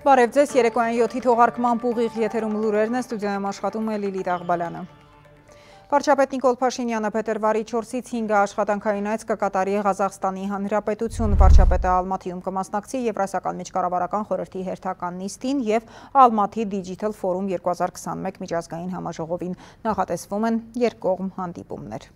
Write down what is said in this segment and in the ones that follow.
Բարև ձեզ, երեկոյան 7-ի թողարկման ուղիղ եթերում լուրերն է, ստուդիայում աշխատում է Լիլիթ Աղբալյանը։ Վարչապետ Նիկոլ Փաշինյանը փետրվարի 4-ից 5-ը աշխատանքային այց կկատարի Ղազախստանի Հանրապետություն։ Վարչապետը Ալմատիում կմասնակցի Եվրասիական միջկառավարական խորհրդի հերթական նիստին և Ալմատի Digital Forum 2021 միջազգային համաժողովին։ Նախատեսվում են երկկողմ հանդիպումներ։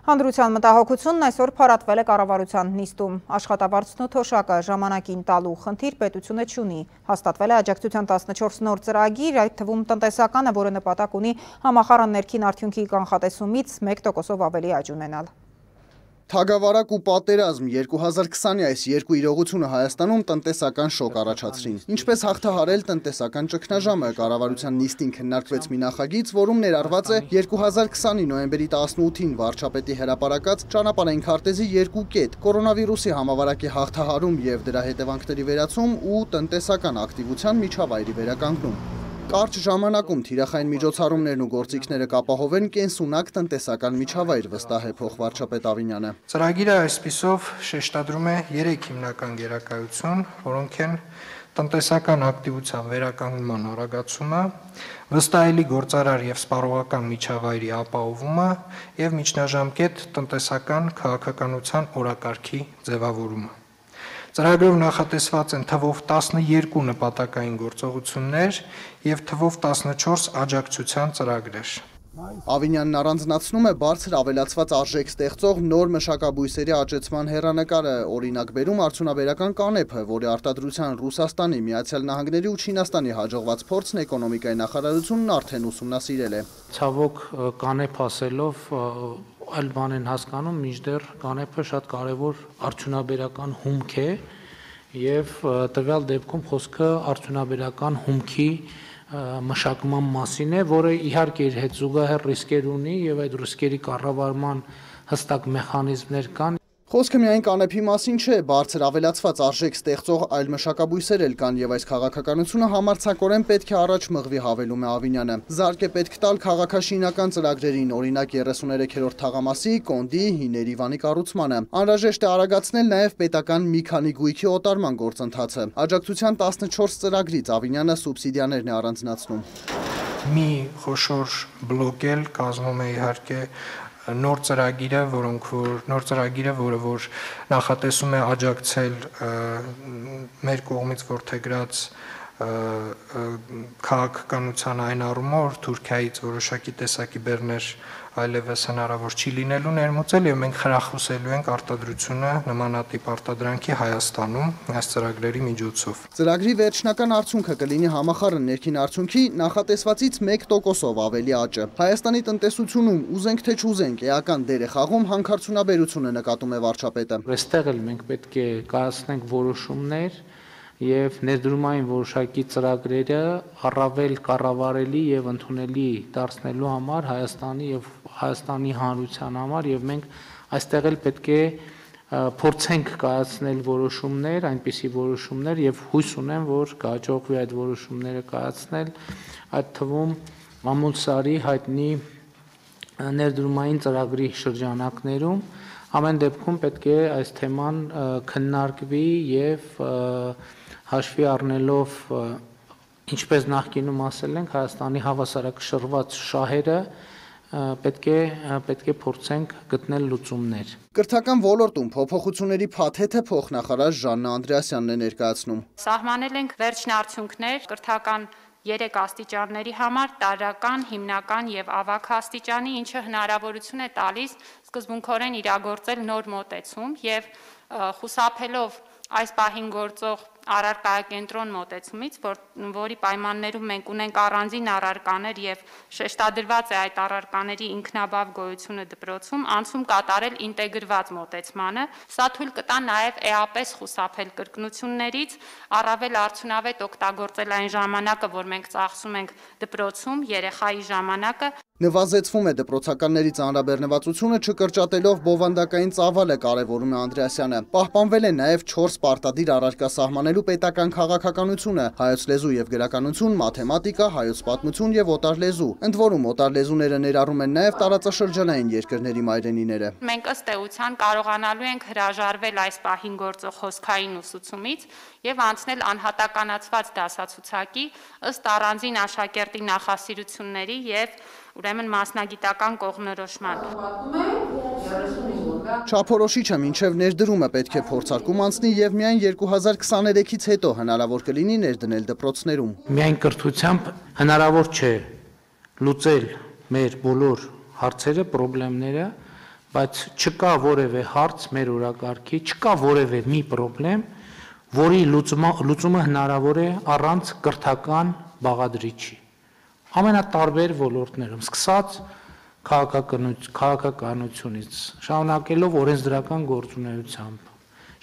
Հանդրության մտահոգությունն այսօր փառատվել է կառավարության նիստում։ Աշխատավարձն ու թոշակը ժամանակին տալու խնդիր պետությունը չունի։ Հաստատվել է աջակցության 14 նոր ծրագիր, այդ թվում տնտեսականը, որը նպատակ ունի համախառն ներքին արդյունքի կանխատեսումից 1%-ով ավելի աճ ունենալ։ Թագավարակ ու պատերազմ 2020-ի այս երկու իրողությունը Հայաստանում տնտեսական շոկ առաջացրին։ Ինչպես հաղթահարել տնտեսական ճգնաժամը, կառավարության նիստին քննարկվեց մի նախագիծ, որում ներառված է 2020-ի նոյեմբերի 18-ին վարչապետի հրապարակած ճանապարհային քարտեզի երկու կետ՝ կորոնավիրուսի համավարակի հաղթահարում եւ դրա հետևանքների վերացում ու տնտեսական ակտիվության միջավայրի վերականգնում։ Կարճ ժամանակում թիրախային միջոցառումներն ու գործիքները կապահովեն կենսունակ տնտեսական միջավայր, վստահ է փոխվարչապետ Ավինյանը։ Ծրագիրը այսպիսով շեշտադրում է 3 հիմնական գերակայություն, որոնք են տնտեսական ակտիվության վերականգնման արագացումը, վստահելի գործարար եւ սպառողական միջավայրի ապահովումը եւ միջնաժամկետ տնտեսական քաղաքականության օրակարգի ձևավորումը։ Ծրագրով նախատեսված են թվով 12 նպատակային գործողություններ եւ թվով 14 աջակցության ծրագրեր։ Ավինյանն առանձնացնում է բարձր ավելացված արժեք ստեղծող նոր մշակաբույսերի աճեցման հեռանկարը, օրինակ բերում արդյունաբերական կանեփը, որի արտադրության Ռուսաստանի, Միացյալ Նահանգների ու Չինաստանի հաջողված փորձն էկոնոմիկայի նախարարությունն արդեն ուսումնասիրել է։ Ցավոք կանեփ ասելով այլ բան են հասկանում, մինչդեռ կանեփը շատ կարևոր արդյունաբերական հումք է եւ տվյալ դեպքում խոսքը արդյունաբերական հումքի մշակման մասին է, որը իհարկե իր հետ զուգահեռ ռիսկեր ունի եւ այդ ռիսկերի կառավարման հստակ մեխանիզմներ կան։ Խոսքը միայն կանեփի մասին չէ, բարձր ավելացված արժեք ստեղծող այլ մշակաբույսեր էլ կան եւ այս քաղաքականությունը համարձակորեն պետք է առաջ մղվի, հավելում է Ավինյանը։ Զարկ է պետք տալ քաղաքաշինական ծրագրերին, օրինակ 33-րդ թաղամասի, Կոնդի, Հիների Վանի կառուցմանը։ Անհրաժեշտ է արագացնել նաեւ պետական մի քանի գույքի օտարման գործընթացը։ Աջակցության 14 ծրագրից Ավինյանը սուբսիդիաներն է առանձնացնում։ Մի խոշոր բլոկ էլ կազմում է իհարկե նոր ծրագիրը, որը նախատեսում է աջակցել մեր կողմից որդեգրած քաղաքականության այն առումով, որ Թուրքիայից որոշակի տեսակի բեռներ այլևս հնարավոր չի լինելու ներմուծել եւ մենք խրախուսելու ենք արտադրությունը նմանատիպ արտադրանքի Հայաստանում այս ծրագրերի միջոցով։ Ծրագրի վերջնական արդյունքը կլինի համախառն ներքին արդյունքի նախատեսվածից 1%-ով ավելի աճը։ Հայաստանի տնտեսությունում ուզենք թե չուզենք էական դեր է խաղում հանքարդյունաբերությունը, նկատում է վարչապետը։ Այստեղ էլ մենք պետք է կայացնենք որոշումներ եւ ներդրումային որոշակի ծրագրերը առավել կառավարելի եւ ընդունելի դարձնելու համար Հայաստանի եւ Հայաստանի հանրության համար եւ մենք այստեղ էլ պետք է փորձենք կայացնել որոշումներ, այնպիսի որոշումներ եւ հույս ունեմ, որ կհաջողվի այդ որոշումները կայացնել, այդ թվում Մամուլսարի հայտնի ներդրումային ծրագրի շրջանակներում։ Ամեն դեպքում պետք է այս թեման քննարկվի եւ հաշվի առնելով, ինչպես նախկինում ասել ենք, Հայաստանի հավասարակշռված շահերը պետք է փորձենք գտնել լուծումներ։ Կրթական ոլորտում փոփոխությունների փաթեթը փոխնախարար Ժաննա Անդրեասյանն է ներկայացնում։ Սահմանել ենք վերջնարդյունքներ կրթական 3 աստիճանների համար՝ տարրական, հիմնական եւ ավագ աստիճանի, ինչը հնարավորություն է տալիս սկզբունքորեն իրագործել նոր մոտեցում եւ խուսափելով այս պահին գործող առարկայակենտրոն մոտեցումից, որի պայմաններում մենք ունենք առանձին առարկաներ եւ շեշտադրված է այդ առարկաների ինքնաբավ գոյությունը դպրոցում, անցում կատարել ինտեգրված մոտեցմանը, սա թույլ կտա նաեւ էապես խուսափել կրկնություններից, առավել արդյունավետ օգտագործել այն ժամանակը, որ մենք ծախսում ենք դպրոցում, երեխայի ժամանակը։ Նվազեցվում է դպրոցականների ծանրաբեռնվածությունը, չկրճատելով բովանդակային ծավալը, կարևորում է Անդրեասյանը։ Պահպանվել է նաև 4 պարտադիր առարկա սահմանելու պետական քաղաքականությունը՝ հայոց լեզու եւ գրականություն, մաթեմատիկա, հայոց պատմություն եւ օտար լեզու։ Ընդ որում օտար լեզուները ներառում են նաև տարածաշրջանային երկրների մայրենիները։ Մենք ըստ էության կարողանալու ենք հրաժարվել այս պահին գործող հոսքային ուսուցումից եւ անցնել անհատականացված դասացուցակի ըստ առանձին աշակերտի նախասիրությունների եւ ուրեմն մասնագիտական կողմնորոշման։ Չափորոշիչը մինչև ներդրումը պետք է փորձարկում անցնի եւ միայն 2023-ից հետո հնարավոր կլինի ներդնել դպրոցներում։ Միայն կրթությամբ հնարավոր չէ լուծել մեր բոլոր հարցերը, խնդիրները, բայց չկա որևէ հարց մեր օրակարգի, չկա որևէ մի խնդրեմ, որի լուծումը հնարավոր է առանց կրթական բաղադրիչի։ Ամենատարբեր ոլորտներում, սկսած քաղաքականությունից, շարունակելով օրենսդրական գործունեությամբ,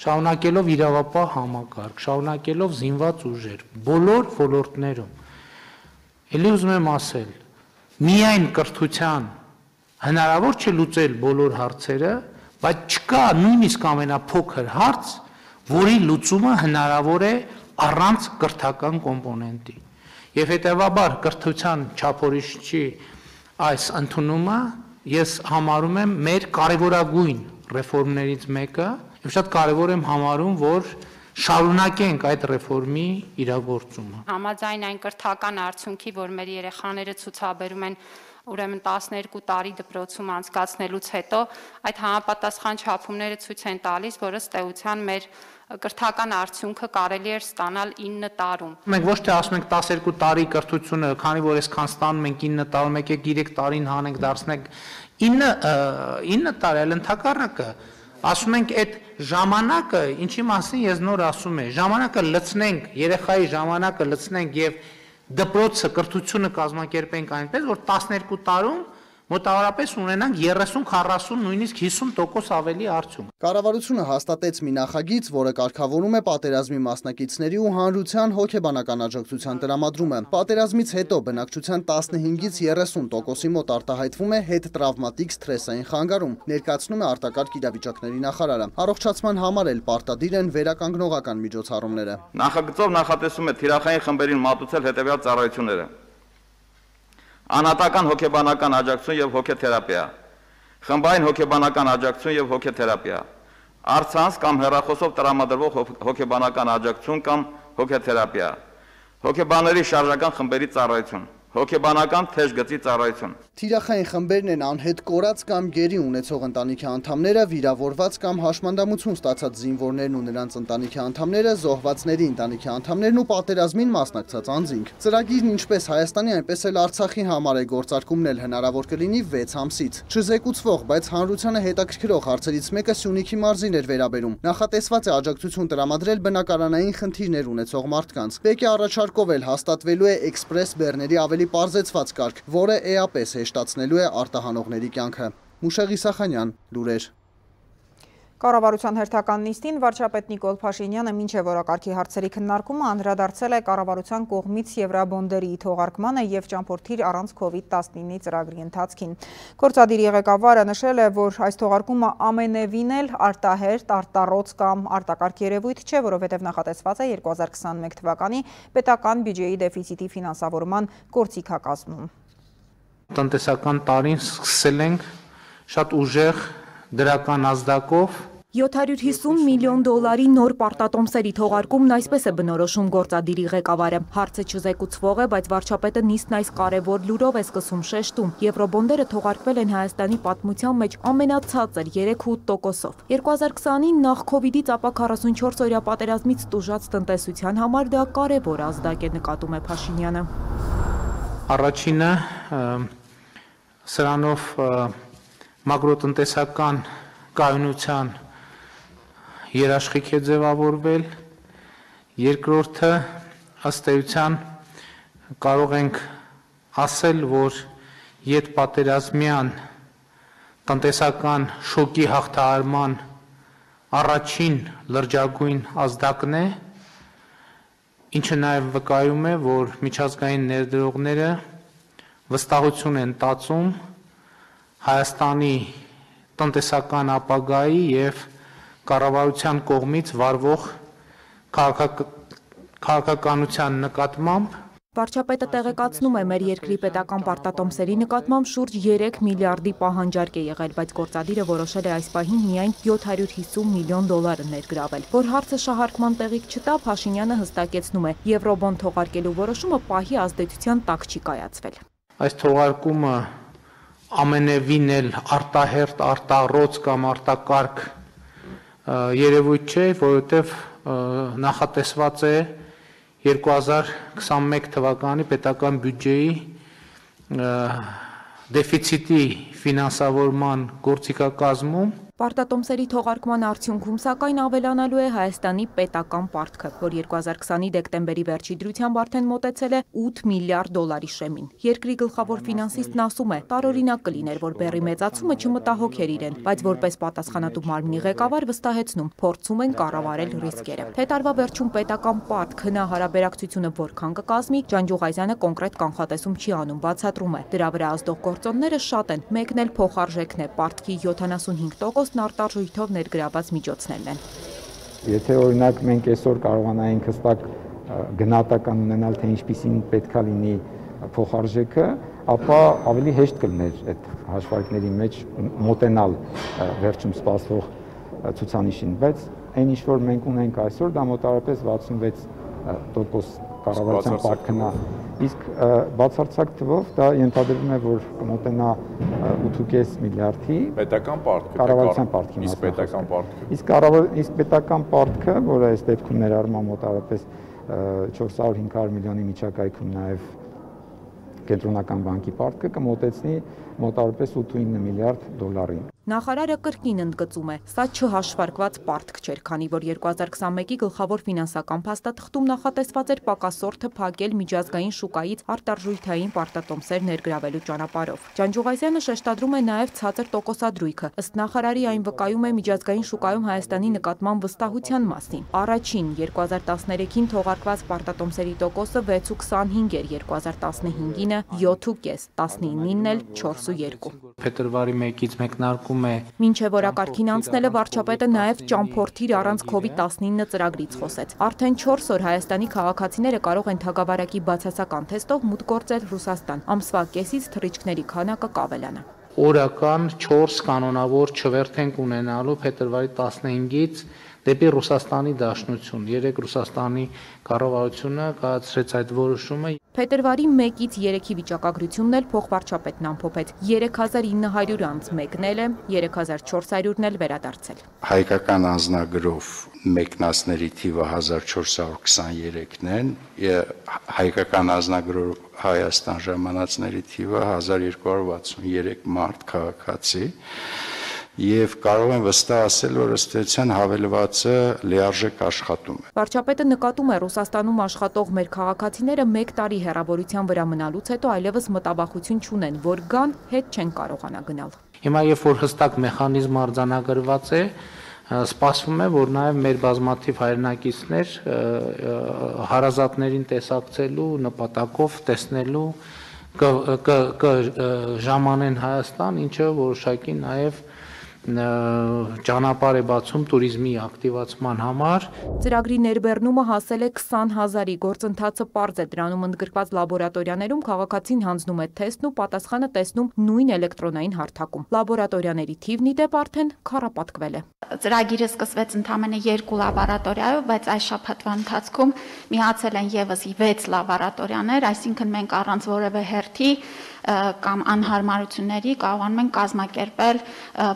շարունակելով իրավապահ համակարգ, շարունակելով զինված ուժեր, բոլոր ոլորտներում։ Էլի ուզում եմ ասել, միայն կրթության հնարավոր չէ լուծել բոլոր հարցերը, բայց չկա նույնիսկ ամենափոքր հարց, որի լուծումը հնարավոր է առանց կրթական կոմպոնենտի։ Եվ հետևաբար կրթության չափորոշիչի այս ընդունումը ես համարում եմ մեր կարևորագույն ռեֆորմներից մեկը, եւ շատ կարևոր եմ համարում, որ շարունակենք այդ ռեֆորմի իրագործումը։ Համաձայն այն կրթական արդյունքի, որ մեր երեխաները ցուցաբերում են ուրեմն 12 տարի դպրոցում անցկացնելուց հետո, այդ համապատասխան չափումները ցույց են տալիս, որ ըստ էության մեր կրթական արդյունքը կարելի էր ստանալ 9 տարում։ Մենք ոչ թե ասում ենք 12 տարի կրթությունը, քանի որ այսքան ստանում ենք 9 տարում, եկեք 3 տարին հանենք, դարձնենք 9 տարի, այլ ընդհակառակը ասում ենք այդ ժամանակը, ինչի մասին ես նոր ասում եմ, ժամանակը լցնենք, երեխայի ժամանակը լցնենք եւ դպրոցը կրթությունը կազմակերպենք այնպես, որ 12 տարում մոտավորապես ունենանք 30, 40, նույնիսկ 50% ավելի արդյունք։ Կառավարությունը հաստատեց մի նախագիծ, որը կարգավորում է պատերազմի մասնակիցների ու հանրության հոգեբանական աջակցության տրամադրումը։ Պատերազմից հետո բնակչության 15-ից 30%-ի մոտ արտահայտվում է հետտրավմատիկ սթրեսային խանգարում, ներկայացնում է արտակարգ իրավիճակների նախարարը։ Առողջացման համար էլ պարտադիր են վերականգնողական միջոցառումները։ Նախագծով նախատեսում է թիրախային խմբերին մատուցել հետևյալ ծառայությունները. անհատական հոգեբանական աջակցություն եւ հոգեթերապիա, խմբային հոգեբանական աջակցություն եւ հոգեթերապիա, առցանց կամ հեռախոսով տրամադրվող հոգեբանական աջակցություն կամ հոգեթերապիա, հոգեբանների շարժական խմբերի ծառայություն, հոգեբանական թեժ գծի ծառայություն։ Թիրախային խմբերն են անհետ կորած կամ գերի ունեցող ընտանիքի անդամները, վիրավորված կամ հաշմանդամություն ստացած զինվորներն ու նրանց ընտանիքի անդամները, զոհվածների ընտանիքի անդամներն ու պատերազմին մասնակցած անձինք։ Ծրագիրն ինչպես Հայաստանի, այնպես էլ Արցախի համար է գործարկումն էլ հնարավոր կլինի 6 ամսից։ Չզեկուցվող, բայց հանրությանը հետաքրքրող հարցերից մեկը Սյունիքի մարզին էր վերաբերում։ Նախատեսված է աջակցություն տրամադրել բնակարանային խնդիրներ ունեցող մարդկանց։ Բեկի առաջարկով էլ հաստատվելու է էքսպրես բեռների ավելի պարզեցված կարգ, որը էապես հեշտացնելու է արտահանողների կյանքը։ Մուշեղ Իսախանյան, լուրեր։ Կառավարության հերթական նիստին վարչապետ Նիկոլ Փաշինյանը մինչև օրակարգի հարցերի քննարկումը անդրադարձել է կառավարության կողմից եվրաբոնդերի թողարկմանը եւ ճամփորդիր առանց COVID-19-ի ծրագրի ընթացքին։ Գործադիրի ղեկավարը նշել է, որ այս թողարկումը ամենևին էլ արտահերտ, արտառոց կամ արտակարգ երևույթ չէ, որովհետեւ նախատեսված է 2021 թվականի պետական բյուջեի դեֆիցիտի ֆինանսավորման գործիքակազմում։ Տնտեսական տարին սկսել ենք շատ ուժեղ դրական ազդակով 750 միլիոն դոլարի նոր պարտատոմսերի թողարկումն այսպես է բնորոշում գործադիրի ղեկավարը։ Հարցը չզեկուցվող է, բայց վարչապետը նիստն այս կարևոր լուրով է սկսում շեշտում։ Եվրոբոնդերը թողարկվել են Հայաստանի պատմության մեջ ամենացածր 3.8%-ով։ 2020-ին նախ Քովիդից ապա 44 օրյա պատերազմից տուժած տնտեսության համար դա կարևոր ազդակ է, նկատում է Փաշինյանը։ Առաջինը սրանով մակրոտնտեսական կայունության երաշխիք է ձևավորվել, երկրորդը ըստ էության կարող ենք ասել, որ ետպատերազմյան տնտեսական շոկի հաղթահարման առաջին լրջագույն ազդակն է, ինչը նաև վկայում է, որ միջազգային ներդրողները վստահություն են տածում Հայաստանի տնտեսական ապագայի եւ կառավարության կողմից վարվող քաղաքականության նկատմամբ Վարչապետը տեղեկացնում է, մեր երկրի պետական պարտատոմսերի նկատմամբ շուրջ 3 միլիարդի պահանջարկ է եղել, բայց գործադիրը որոշել է այս պահին միայն 750 միլիոն դոլար ներգրավել։ Որ հարցը շահարկման տեղիք չտա, Փաշինյանը հստակեցնում է, եվրոբոն թողարկելու որոշումը պահի ազդեցության տակ չի կայացվել։ Այս թողարկումը ամենևին էլ արտահերտ, արտառոց կամ արտակարգ երևույթ չէ, որովհետև նախատեսված է 2021 թվականի պետական բյուջեի դեֆիցիտի ֆինանսավորման գործիքակազմում Պարտատոմսերի թողարկման արդյունքում սակայն ավելանալու է Հայաստանի պետական պարտքը, որ 2020-ի դեկտեմբերի վերջի դրությամբ արդեն մոտեցել է 8 միլիարդ դոլարի շեմին։ Երկրի գլխավոր ֆինանսիստն ասում է, տարօրինակ կլիներ, որ բեռի մեծացումը չմտահոգեր իրեն, բայց որպես պատասխանատու մարմնի ղեկավար վստահեցնում, փորձում են կառավարել ռիսկերը։ Թե տարվա վերջում պետական պարտք հնահարաբերակցությունը որքան կկազմի, Ջանջուղազյանը կոնկրետ կանխատեսում չի անում, բացատրում է։ Դրա վրա ազդող գործոնները շատ են, մեկն էլ փոխարժեքն է, պարտքի 75% արտարժույթով ներգրաված միջոցներն են։ Եթե օրինակ մենք այսօր կարողանայինք հստակ գնահատական ունենալ, թե ինչպիսին պետքա լինի փոխարժեքը, ապա ավելի հեշտ կլիներ այդ հաշվարկների մեջ մոտենալ վերջում սպասվող ցուցանիշին, բայց այն ինչ որ մենք ունենք այսօր, դա մոտավորապես 66% կառավարության պարտքն է, իսկ բացարձակ թվով դա ենթադրվում է, որ կմոտենա 8.5 միլիարդի պետական պարտքը, կառավարության պարտքի իսկ պետական պարտքը, որը այս դեպքում ներառում է մոտավորապես 400-500 միլիոնի միջակայքում նաև կենտրոնական բանկի պարտքը կմոտեցնի մոտավորապես 8-9 միլիարդ դոլարի։ Նախարարը կրկին ընդգծում է, սա չհաշվարկված պարտք չէր, քանի որ 2021-ի գլխավոր ֆինանսական փաստաթղթում նախատեսված էր պակասորթը փակել միջազգային շուկայից արտարժույթային պարտատոմսեր ներգրավելու ճանապարհով։ Ջանջուղազյանը շեշտադրում է նաև ցածր տոկոսադրույքը, ըստ նախարարի այն վկայում է միջազգային շուկայում Հայաստանի նկատմամբ վստահության մասին։ Առաջին 2013-ին թողարկված պարտատոմսերի տոկոսը 6.25 էր, 2015-ին 7.5, 19-ին էլ 4.2։ Փետրվարի 1-ից մեկնարկում Մինչև օրակարգին անցնելը վարչապետը նաև ճամփորդիր առանց COVID-19 ծրագրից խոսեց։ Արդեն 4 օր Հայաստանի քաղաքացիները կարող են թագավարակի բացասական թեստով մուտք գործել Ռուսաստան։ Ամսվա կեսից թռիչքների քանակը կավելանա։ Օրական 4 կանոնավոր չվերթ ենք ունենալու փետրվարի 15-ից դեպի Ռուսաստանի Դաշնություն։ Երեք Ռուսաստանի կառավարությունը կայացրեց այդ որոշումը։ Փետրվարի 1-ից 3-ի վիճակագրությունն էլ փոխվարչապետն ամփոփեց։ 3900 անձ մեկնել է, 3400-ն էլ վերադարձել։ Հայկական անձնագրով մեկնածների թիվը 1423-ն են, հայկական անձնագրով Հայաստան ժամանածների թիվը 1263 մարդ քաղաքացի։ Եվ կարող են վստահ ասել, որ ըստ էության հավելվածը լիարժեք աշխատում է։ Վարչապետը նկատում է Ռուսաստանում աշխատող մեր քաղաքացիները 1 տարի հեռավորության վրա մնալուց հետո այլևս մտավախություն չունեն, որ գան, հետ չեն կարողանա գնալ։ Հիմա երբ որ հստակ մեխանիզմ արձանագրված է, սպասվում է, որ նաև մեր բազմաթիվ հայրենակիցներ հարազատներին տեսակցելու նպատակով տեսնելու կժամանեն Հայաստան, ինչը որոշակի նաև ճանապարհ է բացում туриզմի ակտիվացման համար։ Ծրագրի ներբեռնումը հասել է 20,000-ի, գործընթացը պարզ է, դրանում ընդգրկված լաբորատորիաներում քաղաքացին հանձնում է թեստն ու պատասխանը տեսնում նույն էլեկտրոնային հարթակում։ Լաբորատորիաների թիվն ի դեպ արդեն քառապատկվել է։ Ծրագիրը սկսվեց ընդամենը 2 լաբորատորիայով, բայց այս շաբաթվա ընթացքում միացել են եւս 6 լաբորատորիաներ, այսինքն մենք առանց որևէ հերթի կամ անհարմարությունների կարողանում են կազմակերպել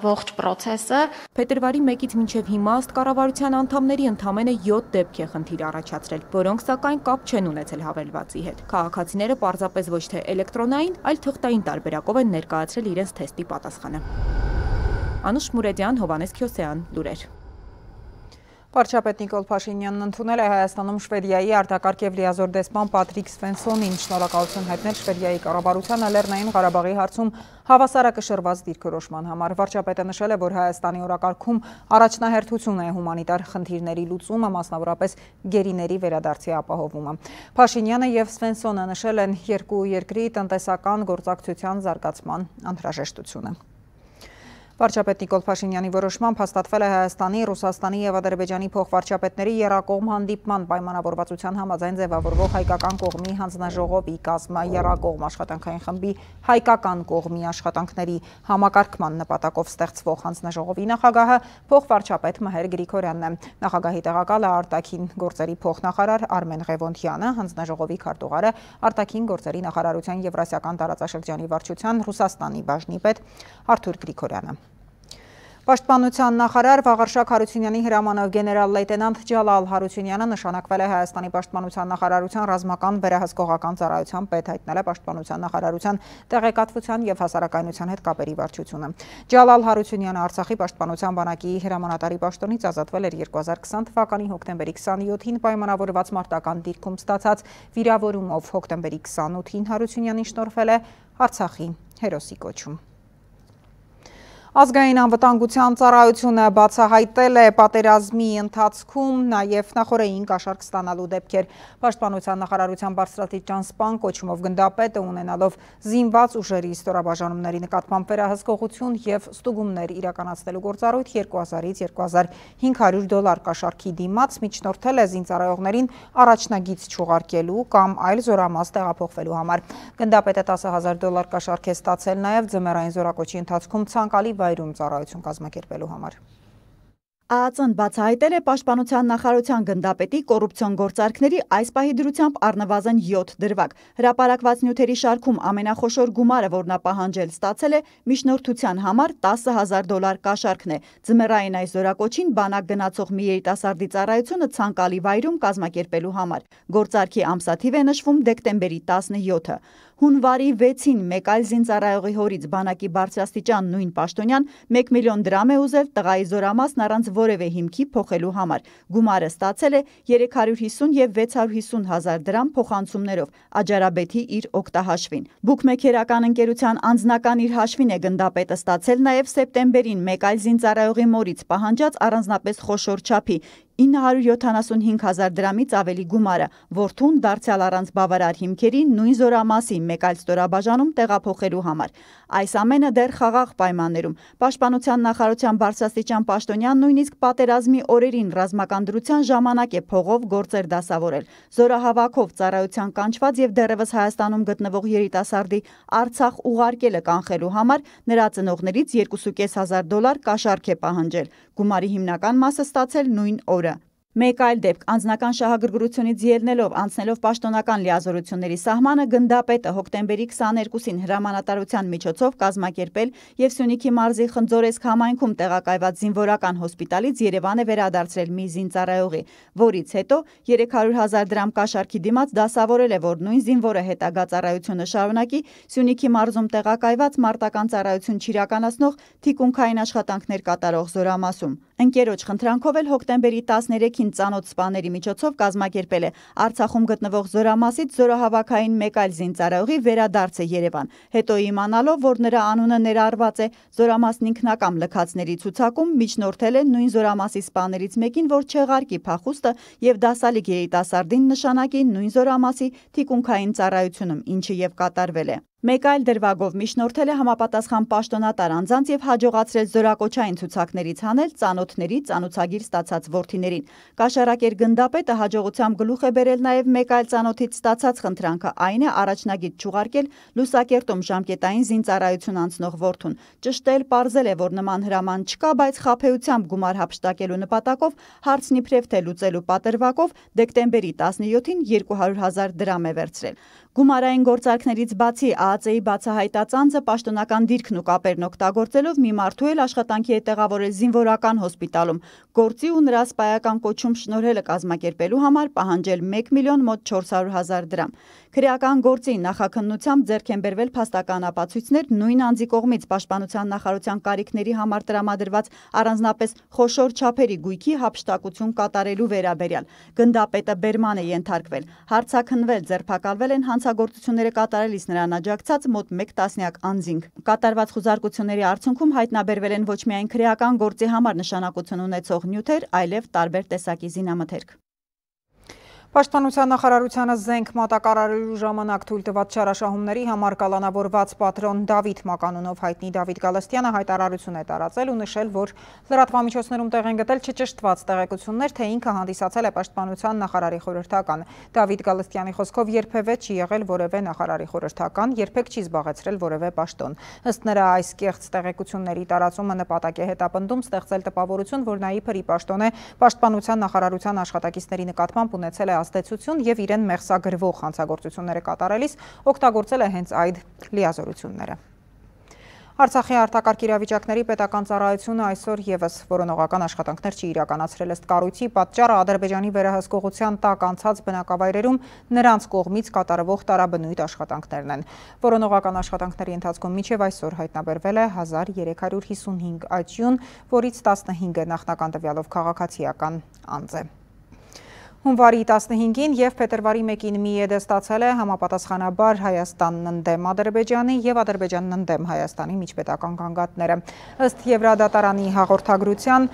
ողջ process-ը։ Փետրվարի 1-ից մինչև հիմա ըստ կառավարության անդամների ընդամենը 7 դեպք է խնդիր առաջացրել, որոնք սակայն կապ չեն ունեցել հավելվածի հետ։ Քաղաքացիները պարզապես ոչ թե էլեկտրոնային, այլ թղթային տարբերակով են ներկայացրել իրենց թեստի պատասխանը։ Անուշ Մուրեդյան, Հովանես Քյոսեյան, լուրեր։ Վարչապետ Նիկոլ Փաշինյանն ընդունել է Հայաստանում Շվեդիայի արտակարգ եւ լիազոր դեսպան Պատրիկ Սվենսոնին, շնորհակալություն հայտնել Շվեդիայի կառավարությանը Լեռնային Ղարաբաղի հարցում հավասարակշռված դիրքորոշման համար։ Վարչապետը նշել է, որ Հայաստանի օրակարգում առաջնահերթություն է հումանիտար խնդիրների լուծումը, մասնավորապես գերիների վերադարձի ապահովումը։ Փաշինյանը եւ Սվենսոնը նշել են երկու երկրի տնտեսական գործակցության զարգացման անհրաժեշտությունը։ Վարչապետ Նիկոլ Փաշինյանի որոշմամբ հաստատվել է Հայաստանի, Ռուսաստանի եւ Ադրբեջանի փոխվարչապետների եռակողմ հանդիպման պայմանավորվածության համաձայն ձևավորվող հայկական կողմի հանձնաժողովի կազմը եռակողմ աշխատանքային խմբի հայկական կողմի աշխատանքների համակարգման նպատակով ստեղծվող հանձնաժողովի նախագահը փոխվարչապետ Մհեր Գրիգորյանն է։ Նախագահի տեղակալը արտաքին գործերի փոխնախարար Արմեն Ղևոնդյանը, հանձնաժողովի քարտուղարը արտաքին գործերի նախարարության Եվրասիական տարածաշրջանի վարչության Ռուսաստանի բաժնի պետ Արթուր Գրիգորյանը։ Պաշտպանության նախարար Վաղարշակ Հարությունյանի հրամանով գեներալ-լեյտենանտ Ջալալ Հարությունյանը նշանակվել է Հայաստանի պաշտպանության նախարարության ռազմական վերահսկողական ծառայության պետ, հայտնել է պաշտպանության նախարարության տեղեկատվության եւ հասարակայնության հետ կապերի վարչությունը։ Ջալալ Հարությունյանը Արցախի պաշտպանության բանակի հրամանատարի պաշտոնից ազատվել էր 2020 թվականի հոկտեմբերի 27-ին պայմանավորված մարտական դիրքում ստացած վիրավորումով։ Հոկտեմբերի 28-ին Հարությունյանին շնորհվել է Արցախի հերոսի կոչում։ Ազգային անվտանգության ծառայությունը բացահայտել է պատերազմի ընթացքում նաև նախօրեին կաշառք ստանալու դեպքեր։ Պաշտպանության նախարարության բարձրաստիճան սպան կոչումով գնդապետը ունենալով զինված ուժերի ստորաբաժանումների նկատմամբ վերահսկողություն եւ ստուգումներ իրականացնելու գործառույթ 2000-ից 2500 դոլար կաշառքի դիմաց միջնորդել է զինծառայողներին առաջնագիծ չուղարկելու կամ այլ զորամաս տեղափոխվելու համար։ Գնդապետը 10,000 դոլար կաշառք է ստացել նաև ձմեռային զորակոչի ընթացքում ցանկալի վայրում ծառայություն կազմակերպելու համար։ ԱԱԾ-ն բացահայտել է պաշտպանության նախարարության գնդապետի կոռուպցիոն գործարքների այս պահի դրությամբ առնվազն 7 դրվագ։ Հրապարակված նյութերի շարքում ամենախոշոր գումարը, որ նա պահանջել ստացել է, միջնորդության համար 10,000 դոլար կաշառքն է։ Ձմեռային այս զորակոչին բանակ գնացող մի երիտասարդի ծառայությունը ցանկալի վայրում կազմակերպելու համար։ Գործարքի ամսաթիվ է նշվում դեկտեմբերի 17-ը։ Հունվարի 6-ին մեկ այլ զինծառայողի հորից բանակի բարձրաստիճան նույն պաշտոնյան 1 միլիոն դրամ է ուզել տղայի զորամասն առանց որևէ հիմքի փոխելու համար։ Գումարը ստացել է 350 եւ 650 հազար դրամ փոխանցումներով Աջարաբեթի իր օգտահաշվին։ Բուքմեքերական ընկերության անձնական իր հաշվին է գնդապետը ստացել նաև սեպտեմբերին մեկ այլ զինծառայողի մորից պահանջած առանձնապես խոշոր չափի 975 հազար դրամից ավելի գումարը, որդուն դարձյալ առանց բավարար հիմքերի նույն զորամասի մեկ այլ ստորաբաժանում տեղափոխելու համար։ Այս ամենը դեռ խաղաղ պայմաններում։ Պաշտպանության նախարարության բարձրաստիճան պաշտոնյան նույնիսկ պատերազմի օրերին ռազմական դրության ժամանակ է փողով գործեր դասավորել։ Զորահավաքով ծառայության կանչված եւ դեռևս Հայաստանում գտնվող երիտասարդի Արցախ ուղարկելը կանխելու համար նրա ծնողներից 2,500 դոլար կաշառք է պահանջել։ Գումարի հիմնական մասը ստացել նույն օրը։ Մեկ այլ դեպք անձնական շահագրգռությունից ելնելով անցնելով պաշտոնական լիազորությունների սահմանը գնդապետը հոկտեմբերի 22-ին հրամանատարության միջոցով կազմակերպել եւ Սյունիքի մարզի Խնձորեսկ համայնքում տեղակայված զինվորական հոսպիտալից Երևան է վերադարձրել մի զինծառայողի, որից հետո 300 հազար դրամ կաշառքի դիմաց դասավորել է, որ նույն զինվորը հետագա ծառայությունը շարունակի Սյունիքի մարզում տեղակայված մարտական ծառայություն չիրականացնող թիկունքային աշխատանքներ կատարող զորամասում։ Ընկերոջ խնդրանքով էլ հոկտեմբերի 13-ին ծանոթ սպաների միջոցով կազմակերպել է Արցախում գտնվող զորամասից զորահավաքային մեկ այլ զինծառայողի վերադարձը Երևան։ Հետո իմանալով, որ նրա անունը ներառված է զորամասն ինքնակամ լքածների ցուցակում, միջնորդել է նույն զորամասի սպաներից մեկին, որ չեղարկի փախուստը եւ դասալիկ երիտասարդին նշանակի նույն զորամասի թիկունքային ծառայությունում, ինչը եւ կատարվել է։ Մեկ այլ դրվագով միջնորդել է համապատասխան պաշտոնատար անձանց եւ հաջողացրել զորակոչային ցուցակներից հանել ծանոթների ծանոթագիր ստացած որդիներին։ Կաշառակեր գնդապետը հաջողությամբ գլուխ է բերել նաեւ մեկ այլ ծանոթից ստացած խնդրանքը, այն է առաջնագիծ չուղարկել Լուսակերտում ժամկետային զինծառայություն անցնող որդուն։ Ճշտել պարզել է, որ նման հրաման չկա, բայց խաբեությամբ գումար հափշտակելու նպատակով հարցն իբրև թե լուծելու պատրվակով դեկտեմբերի 17-ին 200 հազար դրամ է վերցրել։ Գումարային գործարքներից բացի ԱԱԾ-ի բացահայտած անձը պաշտոնական դիրքն ու կապերն օգտագործելով մի մարդու էլ աշխատանքի է տեղավորել զինվորական հոսպիտալում, գործի ու նրա սպայական կոչում շնորհելը կազմակերպելու համար պահանջել 1 միլիոն մոտ 400 հազար դրամ։ Քրեական գործի նախաքննությամբ ձեռք են բերվել փաստական ապացույցներ նույն անձի կողմից պաշտպանության նախարարության կարիքների համար տրամադրված առանձնապես խոշոր չափերի գույքի հափշտակություն կատարելու վերաբերյալ։ Գնդապետը բերման է ենթարկվել, հարցաքննվել, ձերբակալվել են հանցագործությունները կատարելիս նրան աջակցած մոտ 1 տասնյակ անձինք։ Կատարված խուզարկությունների արդյունքում հայտնաբերվել են ոչ միայն քրեական գործի համար նշանակություն ունեցող նյութեր, այլև տարբեր տեսակի զինամթերք։ Պաշտպանության նախարարությանը զենք մատակարարելու ժամանակ թույլ տված չարաշահումների համար կալանավորված պատրոն Դավիթ Մականունով հայտնի Դավիթ Գալստյանը հայտարարություն է տարածել ու նշել, որ լրատվամիջոցներում տեղ են գտել չճշտված տեղեկություններ, թե ինքը հանդիսացել է պաշտպանության նախարարի խորհրդական։ Դավիթ Գալստյանի խոսքով երբևէ չի եղել որևէ նախարարի խորհրդական, երբեք չի զբաղեցրել որևէ պաշտոն։ Ըստ նրա, այս կեղծ տեղեկությունների տարածումը նպատակ է հետապնդում ստեղծել տպավորություն, որ նա իբրի պաշտոն է պաշտպանության նախարարության աշխատակիցների նկատմամբ ունեցել է ազդեցություն եւ իրեն մեղսագրվող հանցագործությունները կատարելիս օգտագործել է հենց այդ լիազորությունները։ Արցախի արտակարգ իրավիճակների պետական ծառայությունը այսօր եւս որոնողական աշխատանքներ չի իրականացրել ըստ կառույցի պատճառը Ադրբեջանի վերահսկողության տակ անցած բնակավայրերում նրանց կողմից կատարվող տարաբնույթ աշխատանքներն են։ Որոնողական աշխատանքների ընթացքում մինչև այսօր հայտնաբերվել է 1355 աճյուն, որից 15-ը նախնական տվյալով քաղաքացիական անձ է։ Հունվարի 15-ին եւ փետրվարի 1-ին ՄԻԵԴ-ը ստացել է համապատասխանաբար Հայաստանն ընդդեմ Ադրբեջանի եւ Ադրբեջանն ընդդեմ Հայաստանի միջպետական գանգատները։ Ըստ Եվրադատարանի հաղորդագրության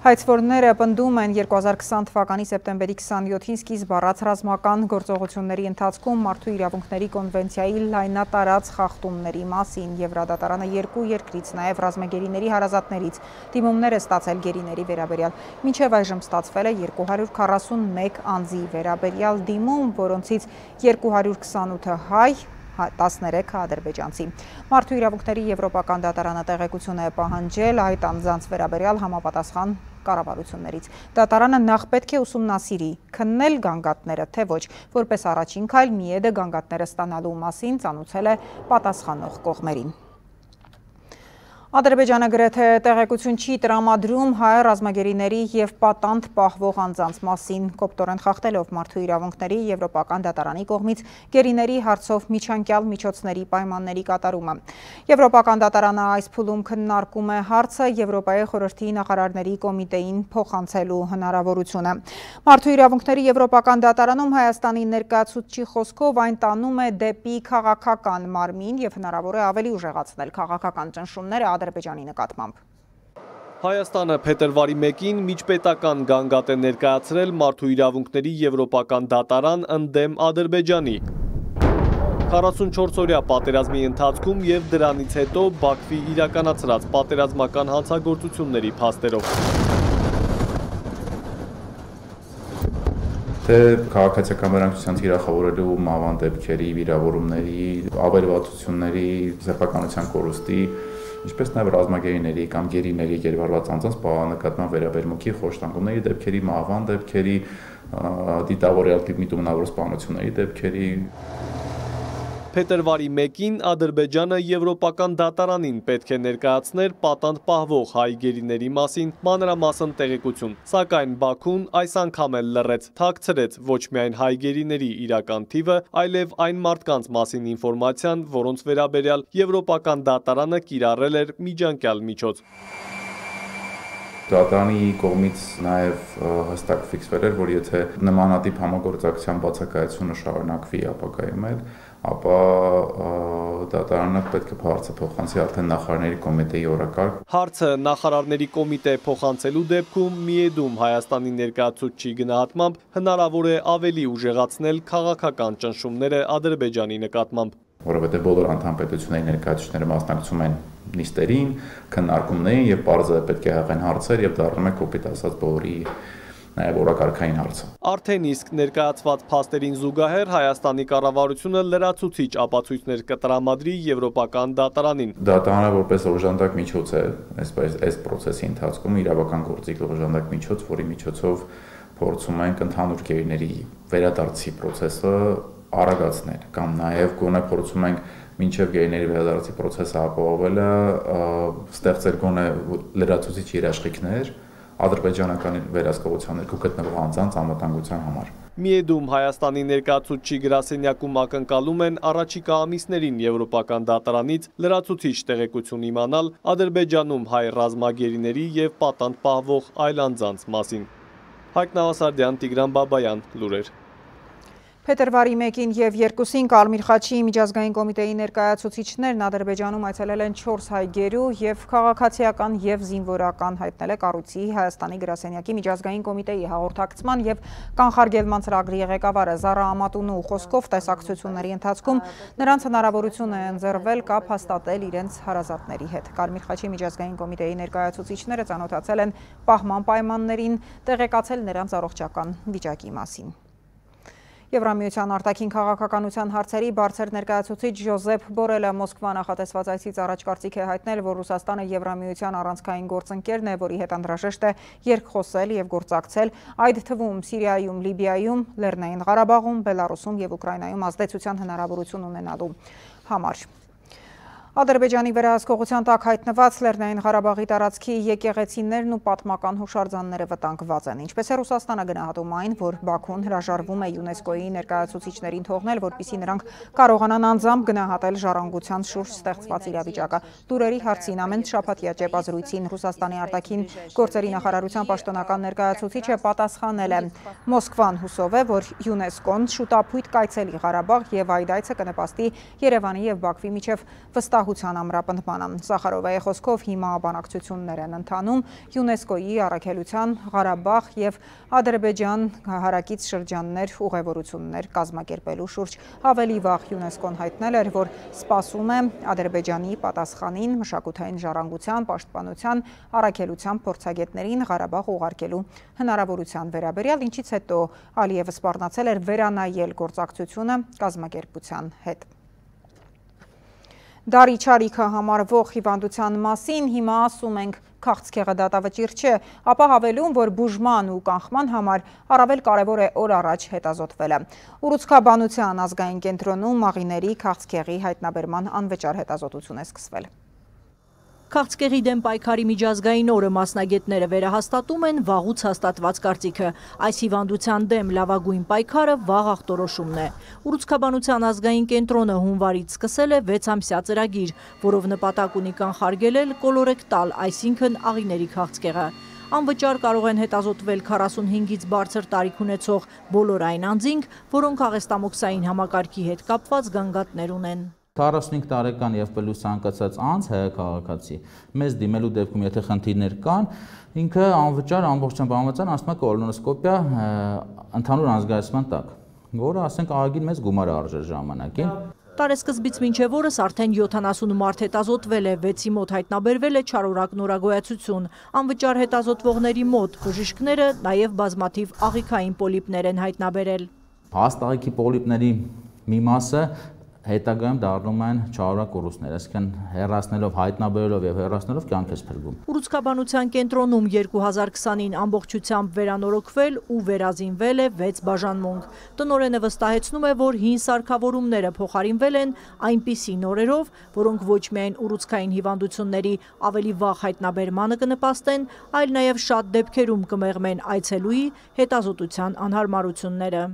հայցվորները պնդում են 2020 թվականի սեպտեմբերի 27-ին սկիզբ առած ռազմական գործողությունների ընթացքում մարդու իրավունքների կոնվենցիայի լայնատարած խախտումների մասին։ Եվրադատարանը երկու երկրից, նաև ռազմագերիների հարազատներից դիմումներ է ստացել գերիների վերաբերյալ։ Մինչև այժմ ստացվել է 241 անձի վերաբերյալ դիմում, որոնցից 228-ը հայ, 13 ադրբեջանցի։ Մարդու իրավունքների եվրոպական դատարանը տեղեկություն է պահանջել այդ անձանց վերաբերյալ համապատասխան կառավարություններից։ Դատարանը նախ պետք է ուսումնասիրի, քննել գանգատները, թե ոչ, որպես առաջին քայլ ՄԻԵԴ-ը գանգատները ստանալու մասին ծանուցել է պատասխանող կողմերին։ Ադրբեջանը գրեթե տեղեկություն չի տրամադրում հայ ռազմագերիների եւ պատանդ պահվող անձանց մասին, կոպտորեն խախտելով մարդու իրավունքների եվրոպական դատարանի կողմից գերիների հարցով միջանկյալ միջոցների պայմանների կատարումը։ Եվրոպական դատարանը այս փուլում քննարկում է հարցը Եվրոպայի խորհրդի նախարարների կոմիտեին փոխանցելու հնարավորությունը։ Մարդու իրավունքների եվրոպական դատարանում Հայաստանի ներկայացուցչի խոսքով այն տանում է դեպի քաղաքական մարմին եւ հնարավոր է ավելի ուժեղացնել քաղաքական ճնշումները Ադրբեջանի նկատմամբ։ Հայաստանը փետրվարի 1-ին միջպետական գանգատ է ներկայացրել մարդու իրավունքների եվրոպական դատարան ընդդեմ Ադրբեջանի։ 44-օրյա պատերազմի ընթացքում եւ դրանից հետո Բաքվի իրականացրած պատերազմական հանցագործությունների փաստերով։ Թե քաղաքացիական վերահսկողության թիրախավորելու մահվան դեպքերի, վիրավորումների, ավերվածությունների, սեփականության կորուստի, ինչպես նաև ռազմագերիների կամ գերիների գերվարված անձանց նկատմամբ վերաբերմունքի խոշտանգումների դեպքերի, մահվան դեպքերի, դիտավորյալ միտումնավոր սպանությունների դեպքերի։ Փետրվարի 1-ին Ադրբեջանը եվրոպական դատարանին պետք է ներկայացներ պատանդ պահվող հայ գերիների մասին մանրամասն տեղեկություն, սակայն Բաքուն այս անգամ էլ լռեց, թաքցրեց ոչ միայն հայ գերիների իրական թիվը, այլև այն մարդկանց մասին ինֆորմացիան, որոնց վերաբերյալ եվրոպական դատարանը կիրառել էր միջանկյալ միջոց։ Դատարանի կողմից նաև հստակ ֆիքսվել էր, որ եթե նմանատիպ համագործակցության բացակայությունը շարունակվի ապագայում էլ, ապա դատարանը պետք է հարցը փոխանցի արդեն նախարարների կոմիտեի օրակարգ։ Հարցը նախարարների կոմիտե փոխանցելու դեպքում ՄԻԵԴ-ում Հայաստանի ներկայացուցչի գնահատմամբ հնարավոր է ավելի ուժեղացնել քաղաքական ճնշումները Ադրբեջանի նկատմամբ։ Որովհետև բոլոր անդամ պետությունների ներկայացուցիչները մասնակցում են նիստերին, քննարկումներին եւ բարձր պետք է հաղեն հարցեր եւ դառնում է կոպիտ ասած բոլորի նաև օրակարգային հարցը։ Արդեն իսկ ներկայացված փաստերին զուգահեռ Հայաստանի կառավարությունը լրացուցիչ ապացույցներ կտրամադրի եվրոպական դատարանին։ Դատարանը որպես օժանդակ միջոց է, այս process-ի ընթացքում իրավական գործիք օժանդակ միջոց, որի միջոցով փորձում ենք ընդհանուր գերիների վերադարձի process-ը արագացնել կամ նաև գոնե փորձում ենք մինչև գերիների վերադարձի process-ը ապահովելը ստեղծել գոնե լրացուցիչ երաշխիքներ ադրբեջանական վերահսկողության ներքո գտնվող անձանց անվտանգության համար։ Միեդում Հայաստանի ներկայացուցչի գրասենյակում ակնկալում են առաջիկա ամիսներին եվրոպական դատարանից լրացուցիչ տեղեկություն իմանալ Ադրբեջանում հայ ռազմագերիների և պատանդ պահվող այլ անձանց մասին։ Հայկ Նավասարդյան, Տիգրան Բաբայան, լուրեր։ Փետրվարի 1-ին և 2-ին Կարմիր խաչի միջազգային կոմիտեի ներկայացուցիչներն Ադրբեջանում այցելել են 4 հայ գերու և քաղաքացիական և զինվորական հայտնել է կառույցի Հայաստանի գրասենյակի միջազգային կոմիտեի հաղորդակցման և կանխարգելման ծրագրի ղեկավարը Զարա Ամատունու խոսքով տեսակցությունների ընթացքում նրանց հնարավորություն է ընձեռվել կապ հաստատել իրենց հարազատների հետ։ Կարմիր խաչի միջազգային կոմիտեի ներկայացուցիչները ծանոթացել են պահման պայմաններին, տեղեկացել նրանց առողջական վիճակի մասին։ Եվրամիության արտաքին քաղաքականության հարցերի բարձր ներկայացուցիչ Ժոզեփ Բորելը Մոսկվա նախատեսված այցից առաջ կարծիք է հայտնել, որ Ռուսաստանը Եվրամիության առանցքային գործընկերն է, որի հետ անհրաժեշտ է երկխոսել և գործակցել, այդ թվում Սիրիայում, Լիբիայում, Լեռնային Ղարաբաղում, Բելարուսում և Ուկրաինայում ազդեցության հնարավորություն ունենալու համար։ Ադրբեջանի վերահսկողության տակ հայտնված Լեռնային Ղարաբաղի տարածքի եկեղեցիներն ու պատմական հուշարձանները վտանգված են։ Ինչպես է Ռուսաստանը գնահատում այն, որ Բաքուն հրաժարվում է ՅՈՒՆԵՍԿՕ-ի ներկայացուցիչներին թողնել, որպեսզի նրանք կարողանան անձամբ գնահատել ժառանգության շուրջ ստեղծված իրավիճակը։ Լուրերի հարցին ամեն շաբաթյա ճեպազրույցին Ռուսաստանի արտաքին գործերի նախարարության պաշտոնական ներկայացուցիչը պատասխանել է. Մոսկվան հուսով է, որ ՅՈՒՆԵՍԿՕ-ն շուտապույտ կայցելի Ղարաբաղ և այդ այցը կնպաստի Երևանի և Բաքվի միջև վստահության ամրապնդմանը։ Սախարովայի խոսքով հիմա բանակցություններ են ընթանում ՅՈՒՆԵՍԿՕ-ի առաքելության Ղարաբաղ և Ադրբեջան հարակից շրջաններ ուղևորություններ կազմակերպելու շուրջ։ Ավելի վաղ ՅՈՒՆԵՍԿՕ-ն հայտնել էր, որ սպասում է Ադրբեջանի պատասխանին մշակութային ժառանգության, պաշտպանության, առաքելության փորձագետներին Ղարաբաղ ուղարկելու հնարավորության վերաբերյալ, ինչից հետո Ալիևը սպառնացել էր վերանայել գործակցությունը կազմակերպության հետ։ Դարի չարիքը համարվող հիվանդության մասին հիմա ասում ենք քաղցկեղը դատավճիռ չէ, ապա հավելում, որ բուժման ու կանխման համար առավել կարևոր է օր առաջ հետազոտվելը։ Ուռուցքաբանության ազգային կենտրոնում աղիների քաղցկեղի հայտնաբերման անվճար հետազոտություն է սկսվել։ Քաղցկեղի դեմ պայքարի միջազգային օրը մասնագետները վերահաստատում են վաղուց հաստատված կարծիքը։ Այս հիվանդության դեմ լավագույն պայքարը վաղ ախտորոշումն է։ Ուռուցքաբանության ազգային կենտրոնը հունվարից սկսել է 6-ամսյա ծրագիր, որով նպատակ ունի կանխարգելել կոլորեկտալ, այսինքն աղիների քաղցկեղը։ Անվճար կարող են հետազոտվել 45-ից բարձր տարիք ունեցող բոլոր այն անձինք, որոնք աղեստամոքսային համակարգի հետ կապված գանգատներ ունեն։ 45 տարեկան եւ պլյուս ցանկացած անձ հայ-քաղաքացի մեզ դիմելու դեպքում եթե խնդիրներ կան, ինքը անվճար ամբողջությամբ անվճար ասում է կոլոնոսկոպիա ընդհանուր անզգայացման տակ, որը ասենք ահագին մեծ գումար է արժեր ժամանակին։ Տարեսկզբից մինչև օրս արդեն 70 մարդ հետազոտվել է, 6-ի մոտ հայտնաբերվել է չարորակ նորագոյացություն։ Անվճար հետազոտվողների մոտ բժիշկները նաև բազմաթիվ աղիքային պոլիպներ են հայտնաբերել։ Հաստ աղիքի պոլիպների մի մասը հետագայում դառնում են չարորակ կորուստներ, այսինքն հեռացնելով, հայտնաբերելով եւ հեռացնելով կյանք է փրկում։ Ուռուցքաբանության կենտրոնում 2020-ին ամբողջությամբ վերանորոգվել ու վերազինվել է 6 բաժանմունք։ Տնօրենը վստահեցնում է, որ հին սարքավորումները փոխարինվել են այնպիսի նորերով, որոնք ոչ միայն ուռուցքային հիվանդությունների ավելի վաղ հայտնաբերմանը կնպաստեն, այլ նաև շատ դեպքերում կմեղմեն այցելուի հետազոտության անհարմարությունները։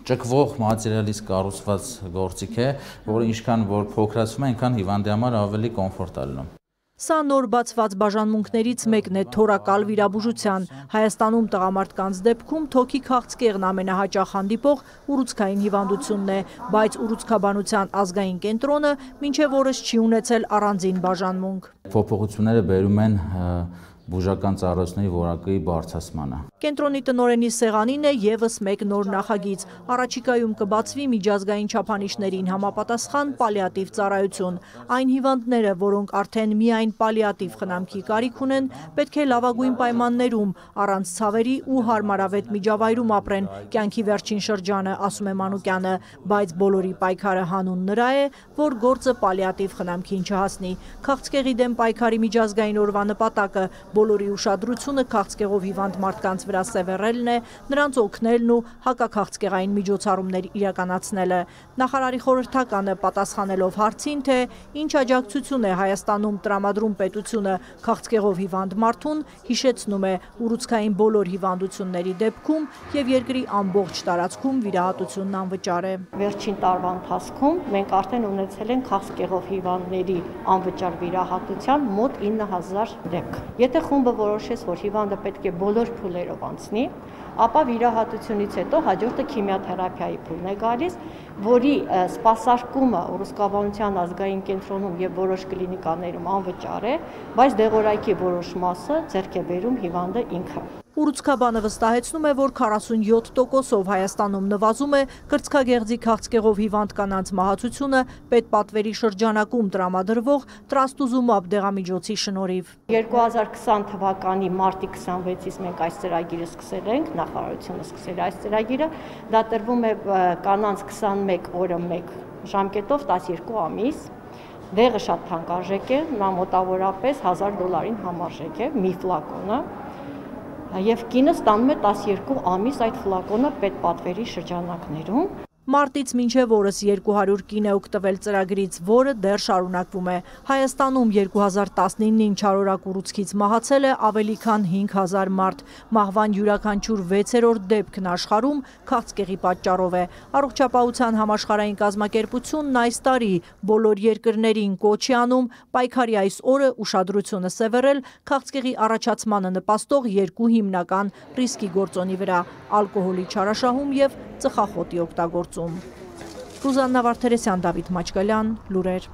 Ճկվող մատերիալից կառուցված գործիք է, որը ինչքան որ փոքրացվում է, այնքան հիվանդի համար ավելի կոմֆորտ է լինում։ Սա նոր բացված բաժանմունքներից մեկն է թորակալ վիրաբուժության։ Հայաստանում տղամարդկանց դեպքում թոքի քաղցկեղն ամենահաճախ հանդիպող ուռուցքային հիվանդությունն է, բայց ուռուցքաբանության ազգային կենտրոնը մինչև օրս չի ունեցել առանձին բաժանմունք։ Փոփոխությունները բերում են բուժական ծառայությունների որակի բարձրացմանը։ Կենտրոնի տնօրենի սեղանին է եւս մեկ նոր նախագիծ։ Առաջիկայում կբացվի միջազգային չափանիշներին համապատասխան պալիատիվ ծառայություն։ Այն հիվանդները, որոնք արդեն միայն պալիատիվ խնամքի կարիք ունեն, պետք է լավագույն պայմաններում, առանց ցավերի ու հարմարավետ միջավայրում ապրեն կյանքի վերջին շրջանը, ասում է Մանուկյանը, բայց բոլորի պայքարը հանուն նրա է, որ գործը պալիատիվ խնամքին չհասնի։ Քաղցկեղի դեմ պայքարի միջազգային օրվա նպատակը Բոլորի ուշադրությունը քաղցկեղով հիվանդ մարդկանց վրա սևեռելն է, նրանց օգնելն ու հակաքաղցկեղային միջոցառումներ իրականացնելը։ Նախարարի խորհրդականը պատասխանելով հարցին, թե ինչ աջակցություն է Հայաստանում տրամադրում պետությունը քաղցկեղով հիվանդ մարդուն, հիշեցնում է ուռուցքային բոլոր հիվանդությունների դեպքում եւ երկրի ամբողջ տարածքում վիրահատությունն անվճար է։ Վերջին տարվա ընթացքում մենք արդեն ունեցել ենք քաղցկեղով հիվանդների անվճար վիրահատության մոտ 9000 դեպք։ Եթե խումբը որոշեց, որ հիվանդը պետք է բոլոր փուլերով անցնի, ապա վիրահատությունից հետո հաջորդը քիմիոթերապիայի փուլն է գալիս, որի սպասարկումը ուռուցքաբանության ազգային կենտրոնում եւ որոշ կլինիկաներում անվճար է, բայց դեղորայքի որոշ մասը ձեռք է բերում հիվանդը ինքը։ Ուռուցքաբանը վստահեցնում է, որ 47%-ով Հայաստանում նվազում է կրծքագեղձի քաղցկեղով հիվանդ կանանց մահացությունը պետպատվերի շրջանակում տրամադրվող տրաստուզումաբ դեղամիջոցի շնորհիվ։ 2020 թվականի մարտի 26-ից մենք այս ծրագիրը սկսել ենք, նախարարությունը սկսել այս ծրագիրը, դա տրվում է կանանց 21 օրը 1 ժամկետով 12 ամիս։ Դեղը շատ թանկարժեք է, նա մոտավորապես $1000-ին համարժեք է մի ֆլակոնը։ Եվ կինը ստանում է 12 ամիս այդ ֆլակոնը պետպատվերի շրջանակներում։ Մարտից մինչև օրս 200 կին է օգտվել ծրագրից, որը դեռ շարունակվում է։ Հայաստանում 2019-ին չարորակ ուռուցքից մահացել է ավելի քան 5000 մարդ։ Մահվան յուրաքանչյուր 6-րդ դեպքն աշխարհում քաղցկեղի պատճառով է։ Առողջապահության համաշխարհային կազմակերպությունն այս տարի բոլոր երկրներին կոչ է անում պայքարի այս օրը ուշադրությունը սևեռել քաղցկեղի առաջացմանը նպաստող երկու հիմնական ռիսկի գործոնի վրա՝ ալկոհոլի չարաշահում եւ ծխախոտի օգտագործում։ Ռուզաննա Վարդերեսյան, Դավիթ Մաչկալյան, լուրեր։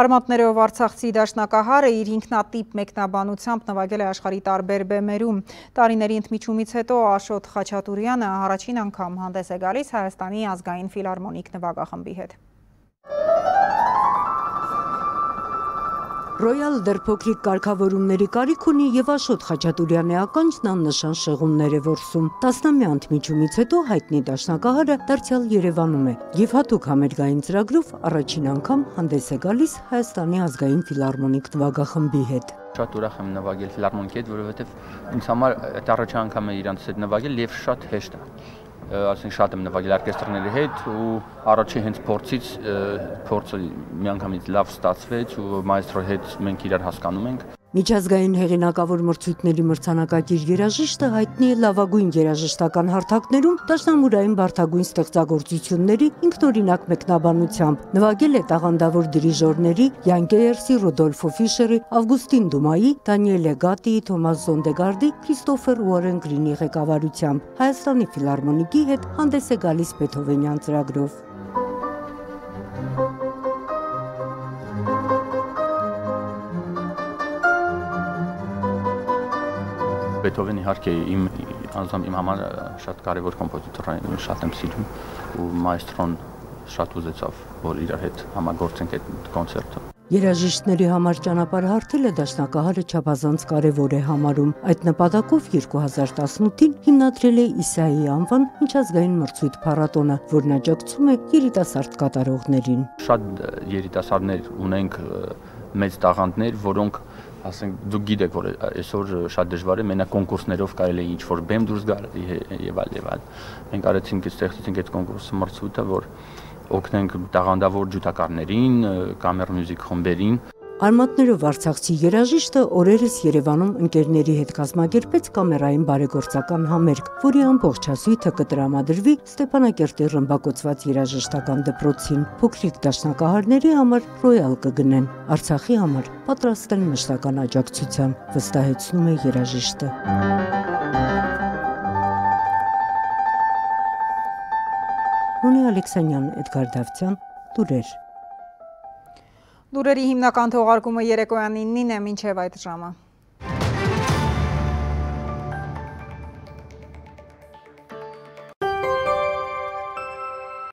Արմատներով Արցախցի դաշնակահարը իր ինքնատիպ մեկնաբանությամբ նվագել է աշխարհի տարբեր բեմերում։ Տարիների ընդմիջումից հետո Աշոտ Խաչատուրյանը առաջին անգամ հանդես է գալիս Հայաստանի ազգային ֆիլհարմոնիկ նվագախմբի հետ։ Ռոյալ դեռ փոքրիկ կարգավորումների կարիք ունի եւ Աշոտ Խաչատուրյանի ականջն աննշան շեղումներ է որսում։ Տասնամյա ընդմիջումից հետո հայտնի դաշնակահարը դարձյալ Երևանում է եւ հատուկ համերգային ծրագրով առաջին անգամ հանդես է գալիս Հայաստանի ազգային ֆիլհարմոնիկ նվագախմբի հետ։ Շատ ուրախ եմ նվագել ֆիլհարմոնիկի հետ, որովհետեւ ինձ համար այդ առաջին անգամ է իրանց հետ նվագել եւ շատ հեշտ է։ Ասենք շատ եմ նվագել օրկեստրների հետ ու առաջի հենց փորձը միանգամից լավ ստացվեց ու մայստրոյի հետ մենք իրար հասկանում ենք։ Միջազգային հեղինակավոր մրցույթների մրցանակակիր երաժիշտը հայտնի է լավագույն երաժշտական հարթակներում դաշնամուրային բարդագույն ստեղծագործությունների ինքնօրինակ մեկնաբանությամբ։ Նվագել է տաղանդավոր դիրիժորների Յան Գեյերսի, Ռուդոլֆո Ֆիշերի, Ավգուստին Դումայի, Դանիելե Գատիի, Թոմաս Զոնդեգարդի, Քրիստոֆեր Ուորեն Գրինի ղեկավարությամբ։ Հայաստանի ֆիլհարմոնիկի հետ հանդես է գալիս Բեթհովենյան ծրագրով։ Բեթհովենը իհարկե իմ համար շատ կարևոր կոմպոզիտոր է, շատ եմ սիրում ու մայստրոն շատ ուզեցավ, որ իրար հետ համագործենք այդ կոնցերտը։ Երաժիշտների համար ճանապարհ հարթելը դաշնակահարը չափազանց կարևոր է համարում։ Այդ նպատակով 2018-ին հիմնադրել է Իսայի անվան միջազգային մրցույթ փառատոնը, որն աջակցում է երիտասարդ կատարողներին։ Շատ երիտասարդներ ունենք, մեծ տաղանդներ, որոնք ասենք դուք գիտեք, որ այսօր շատ դժվար է մենակ կոնկուրսներով կարելի է ինչ-որ բեմ դուրս գալ եւ այլ։ Մենք արեցինք, ստեղծեցինք այդ կոնկուրսը մրցույթը, որ օգնենք տաղանդավոր ջութակարներին, կամեր մյուզիկ խմբերին։ Արմատներով արցախցի երաժիշտը օրերս Երևանում ընկերների հետ կազմակերպեց կամերային բարեգործական համերգ, որի ամբողջ հասույթը կտրամադրվի Ստեփանակերտի ռմբակոծված երաժշտական դպրոցին։ Փոքրիկ դաշնակահարների համար ռոյալ կգնեն, Արցախի համար պատրաստ են մշտական աջակցության, վստահեցնում է երաժիշտը։ Նունի Ալեքսանյան, Էդգար Դավթյան, լուրեր։ Լուրերի հիմնական թողարկումը երեկոյան 9-ին է, մինչև այդ ժամը։